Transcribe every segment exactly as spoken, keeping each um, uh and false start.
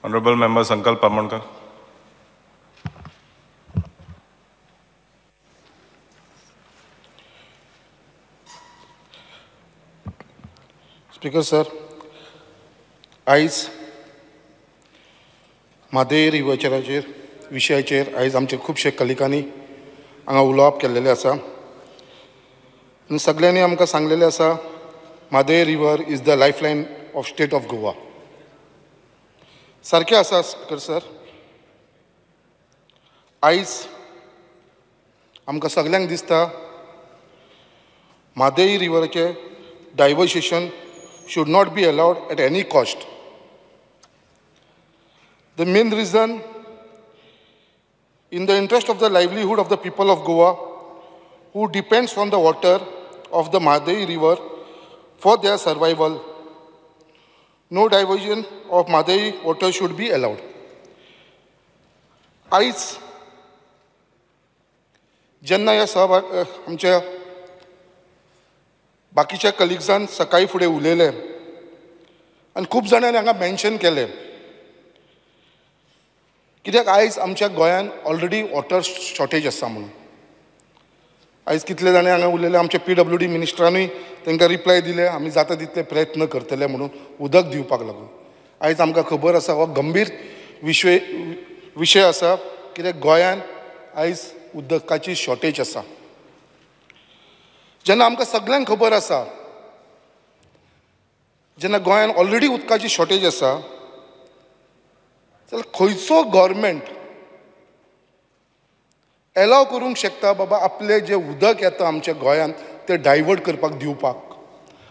Honorable Member Sankalp Amonkar. Speaker sir, आयज म्हादय रिव्हराचेर विशयाचेर आयज आमचे खुबशे कलिकांनी हांगा उलोवप केल्लेलें आसा आनी सगळ्यांनी आमकां सांगलेलें आसा Mhadei river is the lifeline of state of Goa. सारकें आसा स्पीकर सर, आयज आमकां सगल्यांक दिसता Mhadei रिव्हराचें diversion should not be allowed at any cost. The main reason, in the interest of the livelihood of the people of Goa, who depends on the water of the Mhadei river for their survival, no diversion of Mhadei water should be allowed. आयज जेन्ना ह्या सहभाग आमच्या बाकीच्या कलिग्सान सकाळी फुडें उलयले आनी खूब जाणांनी हांगा मेन्शन केलें कित्याक आयज आमच्या गोंयांत ऑलरेडी वॉटर शॉर्टेज आसा म्हणून. आयज कितले जाणां हांगा उलयले, आमच्या पी डब्ल्यू डी मिनिस्टरानूय तांकां रिप्लाय दिले आमी जाता तितले प्रयत्न करतले म्हणून उदक दिवपाक लागून. आयज आमकां खबर आसा हो गंभीर विशय विशय आसा कित्याक गोंयांत आयज उदकाची शॉर्टेज आसा. जेन्ना आमकां सगळ्यांक खबर आसा जेन्ना गोंयांत ऑलरेडी उदकाची शॉर्टेज आसा जाल्यार खंयचो गव्हर्मेंट एलाव करूंक शकता बाबा आपलें जें उदक येता आमच्या गोंयांत तें डायवर्ट करपाक दिवपाक?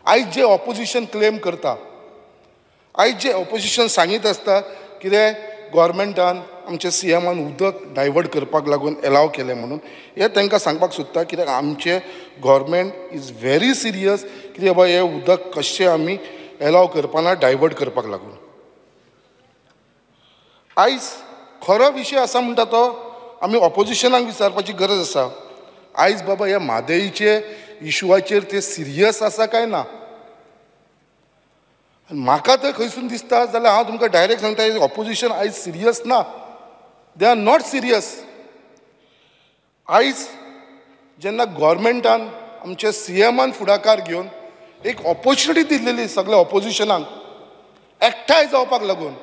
आयज जें ऑपोजिशन क्लेम करता, आयज जें ऑपोजिशन सांगीत आसता कितें गव्हर्मेंटान आमच्या सी एमान उदक डायवर्ट करपाक लागून एलाव केलें म्हणून, हें तांकां सांगपाक सोदता कित्याक आमचें गव्हर्मेंट is very serious कितें बाबा हें उदक कशें आमी एलाव करपाना डायवर्ट करपाक लागून. आयज खरो विशय आसा म्हणटा तो आमी ऑपोजिशनाक विचारपाची गरज आसा. आयज बाबा ह्या म्हादयचे इशुआचेर ते सिरियस आसा काय ना? म्हाका तर खंयसून दिसता जाल्यार हांव तुमकां डायरेक्ट सांगता ऑपोजिशन आयज सिरियस ना, they are not serious. आयज जेन्ना गव्हर्मेंटान आमच्या सी एमान फुडाकार घेवन एक ऑपोर्च्युनिटी दिल्लेली सगळ्या ऑपोजिशनाक एकठांय जावपाक लागून,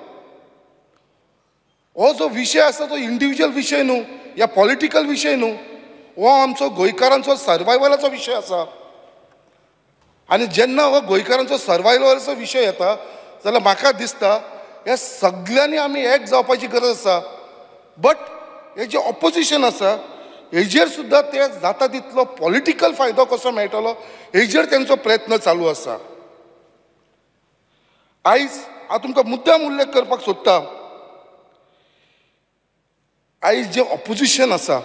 हो जो विशय आसा तो इंडिविज्युअल विशय न्हू या पॉलिटिकल विशय न्हू, हो आमचो गोंयकारांचो सर्वायवलाचो विशय आसा. आनी जेन्ना हो गोंयकारांचो सर्वायवलाचो विशय येता जाल्यार म्हाका दिसता ह्या सगळ्यांनी आमी एक जावपाची गरज आसा. बट हे जे ऑपोजिशन आसा हेजेर सुद्दां ते जाता तितलो पॉलिटिकल फायदो कसो मेळटलो हेजेर तेंचो प्रयत्न चालू आसा. आयज हांव तुमकां मुद्दाम उल्लेख करपाक सोदता, आयज जें ऑपोजिशन आसा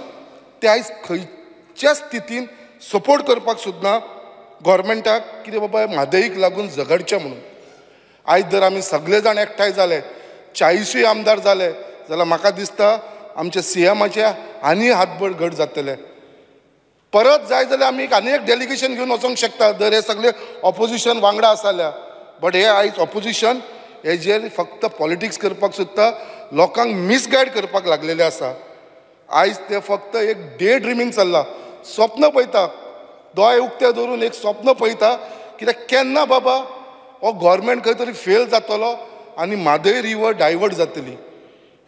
तें आयज खंयच्या स्थितीन सपोर्ट करपाक सोदना गव्हर्मेंटाक कितें बाबा म्हादयीक लागून झगडचें म्हणून. आयज जर आमी सगळे जाण एकठांय जाले, चाळीसूय आमदार जाले जाल्यार म्हाका दिसता आमच्या सी एमाचे आनी हातभर घट जातले. परत जाय जाल्यार आमी आनी एक डेलिगेशन घेवन वचोंक शकता जर हे सगळे ऑपोजिशन वांगडा आसा जाल्यार. बट हे आयज ऑपोजिशन हेजेर फक्त पॉलिटिक्स करपाक सोदता, लोकांक मिसगायड करपाक लागलेले आसा. आयज ते फक्त एक डे ड्रिमींग चल्लां, स्वप्न पळयता, दोळे उक्ते दवरून एक स्वप्न पळयता कित्याक केन्ना बाबा हो गव्हर्मेंट खंय तरी फेल जातलो आनी म्हादय रिवर डायवर्ट जातली.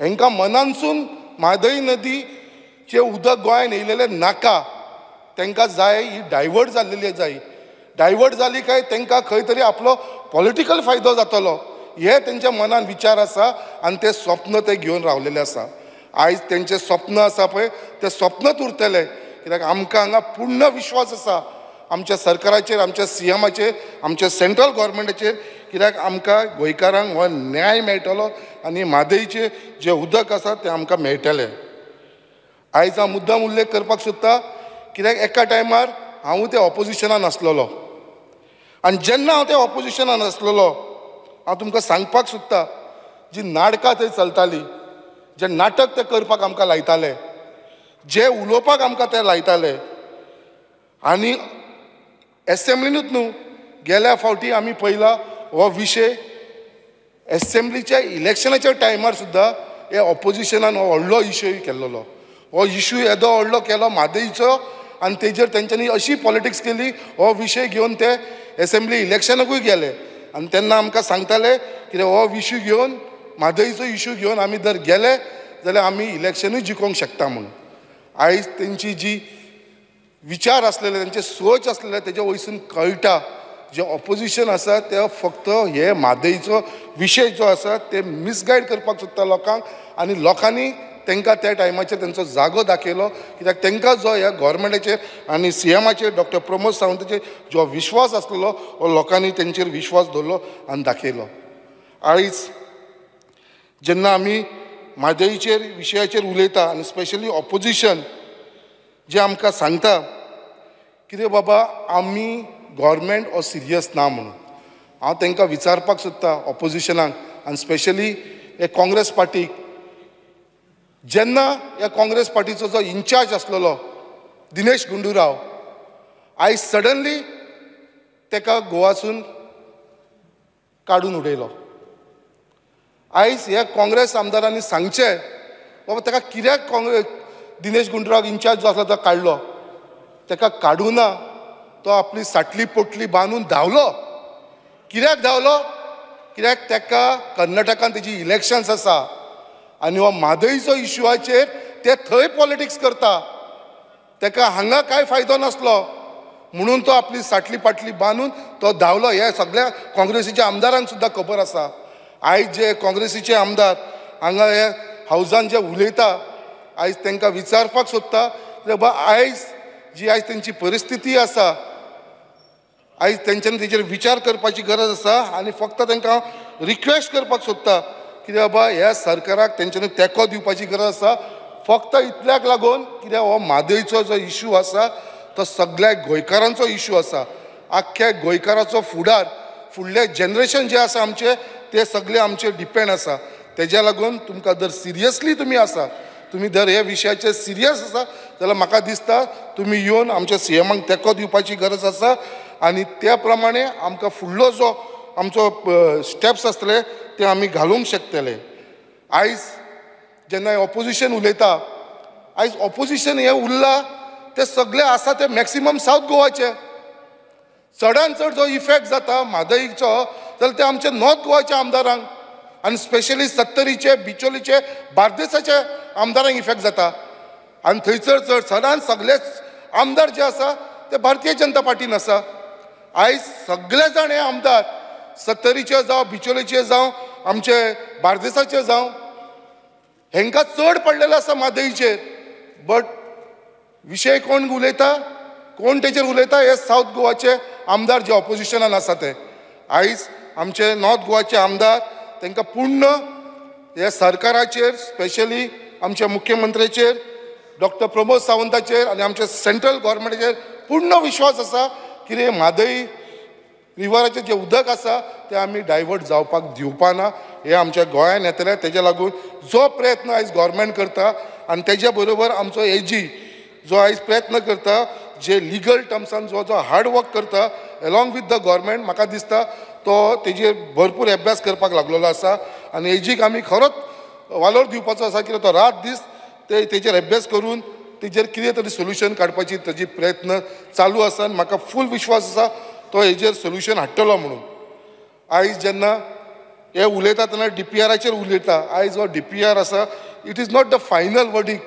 हेंकां मनानसून म्हादय नदीचें उदक गोंयांत येयलेलें नाका, तांकां जाय ही डायवर्ट जाल्लेली जाय. डायवर्ट जाली काय तांकां खंय तरी आपलो पॉलिटिकल फायदो जातलो हे तेंच्या मनान विचार आसा आनी तें स्वप्न ते घेवन रावलेले आसा. आयज तेंचें स्वप्न आसा पळय तें स्वप्नच उरतलें कित्याक आमकां हांगा पूर्ण विश्वास आसा आमच्या सरकाराचेर, आमच्या सी एमाचेर, आमच्या सेंट्रल गव्हर्मेंटाचेर कित्याक आमकां गोंयकारांक हो न्याय मेळटलो आनी म्हादयचें जें उदक आसा तें आमकां मेळटलें. आयज हांव मुद्दाम उल्लेख करपाक सोदता कित्याक एका टायमार हांवूय त्या ऑपोजिशनान आसलेलो आनी जेन्ना हांव त्या ऑपोजिशनान आसलेलो हांव तुमकां सांगपाक सोदता जी नाटकां थंय चलतालीं, जें नाटक ते करपाक आमकां लायताले, जे उलोवपाक आमकां ते लायताले आनी एसेंब्लीनूच न्हू गेल्या फावटी आमी पयला हो विशय एसेंब्लीच्या इलेक्शनाच्या टायमार सुद्दां हे ऑपोजिशनान हो व्हडलो इशू केल्लो. हो इशू येदो व्हडलो केलो म्हादईचो आनी तेजेर तेंच्यांनी अशी पॉलिटिक्स केली. हो विशय घेवन ते एसेंब्ली इलेक्शनाकूय गेले आनी तेन्ना आमकां सांगताले कितें हो इशू घेवन म्हादईचो इशू घेवन आमी जर गेले जाल्यार आमी इलेक्शनूय जिखोवंक शकता म्हणून. आयज तेंची जी विचार आसलेले, तेंचे सोच आसलेले तेजे वयसून कळटा जे ऑपोजिशन आसा ते फक्त हे म्हादईचो विशय जो आसा ते मिसगायड करपाक सोदता लोकांक आनी लोकांनी तांकां त्या टायमाचेर तेंचो जागो दाखयलो. कित्याक तांकां जो ह्या गव्हर्मेंटाचेर आनी सी एमाचेर डॉक्टर प्रमोद सावंताचेर जो विश्वास आसलेलो हो लोकांनी तेंचेर विश्वास दवरलो आनी दाखयलो. आयज जेन्ना आमी म्हादईचेर विशयाचेर उलयता आनी स्पेशली ऑपोजिशन जे आमकां सांगता कितें बाबा आमी गव्हर्मेंट हो सिरियस ना म्हणून, हांव तांकां विचारपाक सोदता ऑपोजिशनाक आनी स्पेशली हे काँग्रेस पार्टीक, जेन्ना ह्या काँग्रेस पार्टीचो जो इन्चार्ज आसलेलो दिनेश गुंडूराव आयज सडनली ताका गोवासून काडून उडयलो. आयज ह्या काँग्रेस आमदारांनी सांगचें बाबा ताका कित्याक काँग्रेस दिनेश गुंडूराव इन्चार्ज जो आसलो तो काडलो, ताका काडूं ना, तो आपली साटली पोटली बांदून धांवलो. कित्याक धांवलो? कित्याक ताका कर्नाटकान तेजी इलेक्शन्स आसा आनी हो म्हादईचो इशुआचेर ते थंय पॉलिटिक्स करता, ताका हांगा कांय फायदो नासलो म्हणून तो आपली साटली पाटली बांदून तो धांवलो. हे सगळ्या काँग्रेसीच्या आमदारांक सुद्दां खबर आसा. आयज जे काँग्रेसीचे आमदार हांगा हे हावजान जे उलयता आयज तांकां विचारपाक सोदता बाबा आयज जी आयज तेंची परिस्थिती आसा आयज तेंच्यांनी तेजेर विचार करपाची गरज आसा आनी फक्त तांकां रिक्वेस्ट करपाक सोदता कित्याक बाबा ह्या सरकाराक तेंच्यांनी तेंको दिवपाची गरज आसा. फक्त इतल्याक लागून कित्याक हो म्हादईचो जो इशू आसा तो सगळ्या गोंयकारांचो इशू आसा. आख्ख्या गोंयकाराचो फुडार, फुडलें जनरेशन जें आसा आमचें ते सगळे आमचेर डिपेंड आसा. तेज्या लागून तुमकां जर सिरियसली तुमी आसा, तुमी जर ह्या विशयाचेर सिरियस आसा जाल्यार म्हाका दिसता तुमी येवन आमच्या सी एमाक तेंको दिवपाची गरज आसा आनी त्या प्रमाणे आमकां फुडलो जो आमचो स्टेप्स आसतले ते आमी घालूंक शकतले. आयज जेन्ना ऑपोजिशन उलयता, आयज ऑपोजिशन हें उरलां ते सगळे आसा ते मॅक्सिमम सावथ गोवाचे. चडान चड जो इफेक्ट जाता म्हादईचो जाल्यार ते आमचे नॉर्थ गोवाच्या आमदारांक आनी स्पेशली सत्तरीचे, बिचोलीचे, बार्देसाचे आमदारांक इफेक्ट जाता आनी थंयसर चड चडान सगळे आमदार जे आसा ते भारतीय जनता पार्टीन आसा. आयज सगळे जाण हे आमदार सत्तरीचे जावं, बिचोलीचे जावं, आमचे बार्देसाचे जावं, हेंकां चड पडलेलें आसा म्हादईचेर. बट विशय कोण उलयता, कोण तेचेर उलयता हे सावथ गोवाचे आमदार जे ऑपोजिशनान आसा ते. आयज आमचे नॉर्थ गोवाचे आमदार तांकां पूर्ण ह्या सरकाराचेर, स्पेशली आमच्या मुख्यमंत्र्याचेर डॉक्टर प्रमोद सावंताचेर आनी आमच्या सेंट्रल गव्हर्मेंटाचेर पूर्ण विश्वास आसा कितें म्हादई रिवराचें जें उदक आसा तें आमी डायवर्ट जावपाक दिवपाना. हें आमच्या गोंयान येतलें. तेज्या लागून जो प्रयत्न आयज गव्हर्मेंट करता आनी तेज्या बरोबर आमचो एजी जो आयज प्रयत्न करता, जे लिगल टर्म्सान जो जो हार्ड वर्क करता एलॉंग विथ the government, म्हाका दिसता तो तेजेर भरपूर अभ्यास करपाक लागलेलो आसा आनी एजीक आमी खरोच वालोर दिवपाचो आसा कित्याक तो रात दीस ते तेजेर अभ्यास करून तेजेर कितें तरी सोल्युशन काडपाची तेजी प्रयत्न चालू आसा आनी म्हाका फूल विश्वास आसा तो हेजेर सोल्युशन हाडटलो म्हणून. आयज जेन्ना हे उलयता तेन्ना डी पी आराचेर उलयता. आयज हो डी पी आर आसा, it is not the final verdict.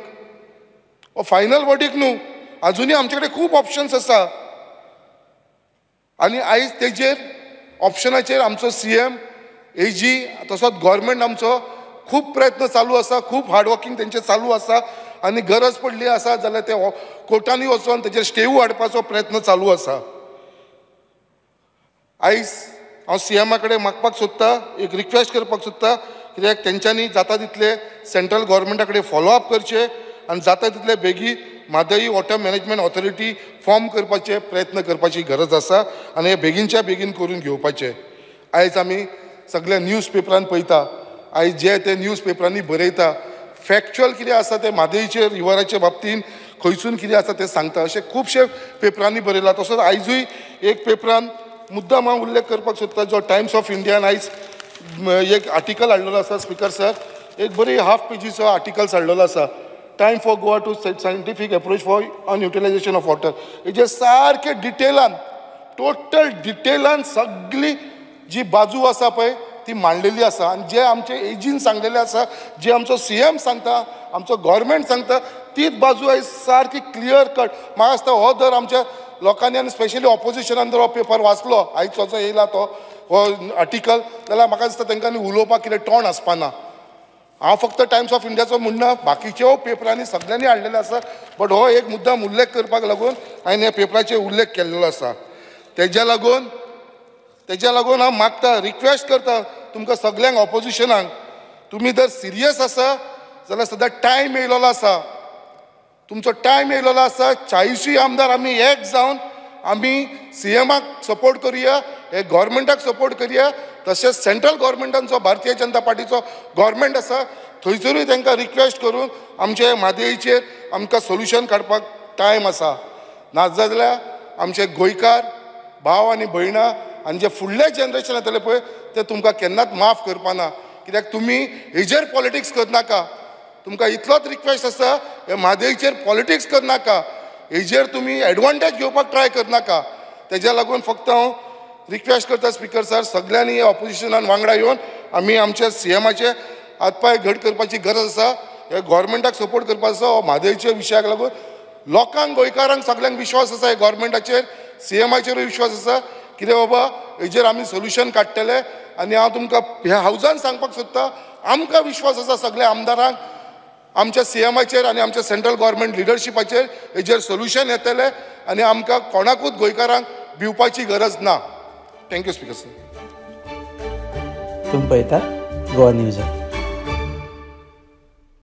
हो फायनल वर्डीक न्हू, आजुनूय आमचे कडेन खूब ऑप्शन्स आसा आनी आयज तेजेर ऑप्शनाचेर आमचो सी एम, एजी तसोच गव्हर्मेंट आमचो खूब प्रयत्न चालू आसा, खूब हार्डवर्कींग तेंचें चालू आसा आनी गरज पडली आसा जाल्यार ते कोर्टांनी वचोन तेजेर स्टेवू हाडपाचो प्रयत्न चालू आसा. आयज हांव सी एमा कडेन मागपाक सोदता, एक रिक्वेस्ट करपाक सोदता कित्याक तेंच्यांनी जाता तितले सेंट्रल गव्हर्मेंटा कडेन फॉलोअप करचें आनी जाता तितले बेगीन Mhadei water management authority form करपाचे प्रयत्न करपाची गरज आसा आनी हे बेगीनच्या बेगीन करून घेवपाचें. आयज आमी सगळे न्यूज पेपरान पळयता, आयज जे ते न्यूज पेपरांनी बरयता फॅक्च्युअल कितें आसा तें म्हादईचेर रिवराचे बाबतीन खंयसून कितें आसा तें सांगता, अशें खुबशे पेपरांनी बरयलां. तसोच आयजूय एक पेपरान मुद्दाम हांव उल्लेख करपाक सोदता जो टायम्स ऑफ इंडियान आयज एक आर्टिकल हाडलेलो आसा स्पीकर सर, एक बरी हाफ पेजीचो आर्टिकल्स हाडलेलो आसा, time for Goa to scientific approach for unutilisation of water. हेजेर सारकें डिटेलान, टोटल डिटेलान सगळी जी बाजू आसा पळय ती मांडलेली आसा आनी जे आमचे एजीन सांगलेले आसा, जे आमचो सी एम सांगता, आमचो गव्हर्मेंट सांगता, तीच बाजू आयज सारकी क्लियर कट. म्हाका दिसता हो जर आमच्या लोकांनी आनी स्पेशली ऑपोजिशनान जर हो पेपर वाचलो आयचो जो येयला तो हो आर्टिकल, जाल्यार म्हाका दिसता तांकां उलोवपाक कितें तोंड आसपाना. हांव फक्त टायम्स ऑफ इंडियाचो म्हणना, बाकीच्यो पेपरांनी सगळ्यांनी हाडलेले आसा, बट हो एक मुद्दाम उल्लेख करपाक लागून हांवें ह्या पेपराचेर उल्लेख केल्लो आसा. तेज्या लागून तेज्या लागून हांव मागता, रिक्वेस्ट करता तुमकां सगल्यांक ऑपोजिशनाक, तुमी जर सिरियस आसा जाल्यार सद्या टायम येयलेलो आसा, तुमचो टायम येयलेलो आसा. चाळीसूय आमदार आमी एक जावन आमी सी एमाक सपोर्ट करुया, हे गव्हर्मेंटाक सपोर्ट करुया, तशेंच सेंट्रल गव्हर्मेंटांचो भारतीय जनता पार्टीचो गव्हर्मेंट आसा थंयसरूय तांकां रिक्वेस्ट करून आमचे म्हादयचेर आमकां सोल्युशन काडपाक टायम आसा. नाजाल्यार आमचे गोंयकार भाव आनी भयणां आनी जे फुडले जनरेशन येतले पळय ते तुमकां केन्नाच माफ करपाना, कित्याक तुमी हेजेर पॉलिटिक्स करनाका. तुमकां इतलोच रिक्वेस्ट आसा, हे म्हादयचेर पॉलिटिक्स करनाका, हेजेर तुमी एडवांटेज घेवपाक ट्राय करनाका. तेज्या लागून फक्त हांव रिक्वेस्ट करता स्पीकर सर, सगळ्यांनी ऑपोजिशनान वांगडा येवन आमी आमच्या सी एमाचे हातपांय घट करपाची गरज आसा, हे गव्हर्मेंटाक सपोर्ट करपाचो आसा. हो म्हादयच्या विशयाक लागून लोकांक, गोंयकारांक सगळ्यांक विश्वास आसा हे गव्हर्मेंटाचेर, सी एमाचेरूय विश्वास आसा कितें बाबा हेजेर आमी सोल्युशन काडटले. आनी हांव तुमकां ह्या हावजान सांगपाक सोदता, आमकां विश्वास आसा सगळ्या आमदारांक आमच्या सी एमाचेर आनी आमच्या सेंट्रल गव्हर्मेंट लिडरशिपाचेर, हेजेर सोल्युशन येतलें आनी आमकां कोणाकूच गोंयकारांक भिवपाची गरज ना. Thank you speaker sir. तुमी पळयतात गोवा न्यूज.